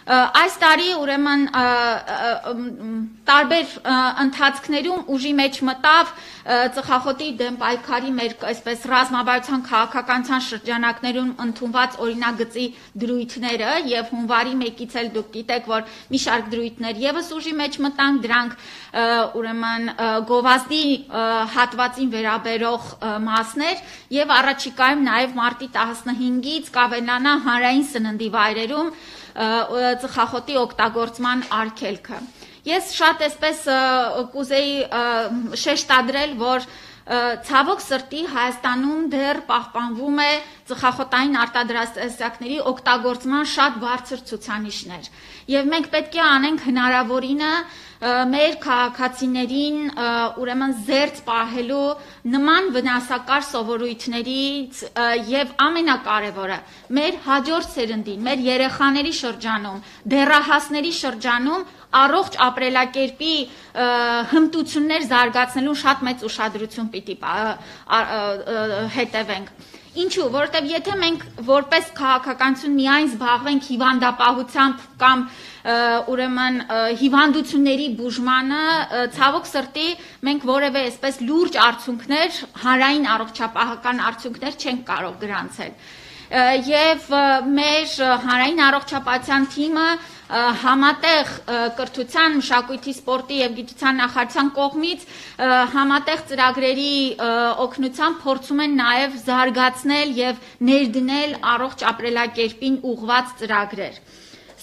Այս տարի ուրեմն տարբեր ընթացքներում ուժի մեջ մտավ ծխախոտի դեմ պայքարի մեր այսպես ռազմավարության քաղաքականության շրջանակներում ընդունված օրինագծի դրույթները եւ հունվարի 1-ից էլ դուք գիտեք, որ մի շարք դրույթներ եւս ուժի մեջ մտան, դրանք ուրեմն գովազդի հատվածին վերաբերող մասներ եւ առաջիկայում նաեւ մարտի 15-ից կավելանա հանրային սննդի վայրերում ծխախոտի օգտագործման արգելքը։ Ես շատ այսպես կուզեի շեշտադրել, որ ցավոք սրտի Հայաստանում դեռ պահպանվում է ծխախոտային արտադրատեսակների օգտագործման շատ բարձր ցուցանիշներ։ Եվ մենք պետք է անենք հնարավորինը մեր քաղաքացիներին ուրեմն զերծ պահելու նման վնասակար սովորույթներից եւ ամենակարևորը մեր հաջորդ սերնդին, մեր երեխաների շրջանում, դեռահասների շրջանում առողջ ապրելակերպի հմտություններ զարգացնելու շատ մեծ ուշադրություն պիտի հետևենք։ Ինչու, որովհետև եթե մենք որպես քաղաքականություն միայն զբաղվենք հիվանդապահությամբ կամ ուրեմն հիվանդությունների բուժմանը, ցավոք սրտի մենք որևէ այսպես լուրջ արդյունքներ, հանրային առողջապահական արդյունքներ չենք կարող գրանցել։ Եվ մեր հանրային առողջապահության թիմը համատեղ կրթության, մշակույթի, սպորտի եւ գիտության նախարարության կողմից համատեղ ծրագրերի օգնությամբ փորձում են նաեւ զարգացնել եւ ներդնել առողջ ապրելակերպին ուղղված ծրագրեր։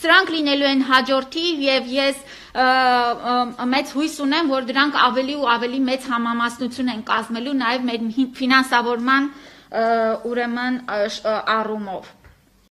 Սրանք լինելու են հաջորդիվ եւ ես մեծ հույս ունեմ, որ դրանք ավելի ու ավելի մեծ համամասնություն են կազմելու նաեւ մեր ֆինանսավորման ուրեմն առումով։